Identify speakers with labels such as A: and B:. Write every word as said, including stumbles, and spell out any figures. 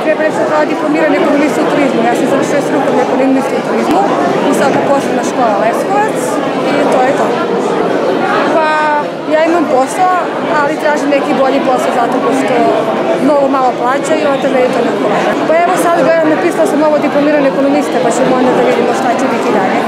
A: treba nešto kao diplomirani ekonomista u turizmu. Ja sam završila strukovni ekonomist u turizmu i sada poslovna škola Leskovac i to je to. Pa, ja imam posao, ali tražim neki bolji posao zato što mnogo malo plaćaju i onda meni to ne odgovara. Pa evo sad gledam, napisala sam ovo diplomirani ekonomista, pa ćemo onda da vidimo šta će biti dalje.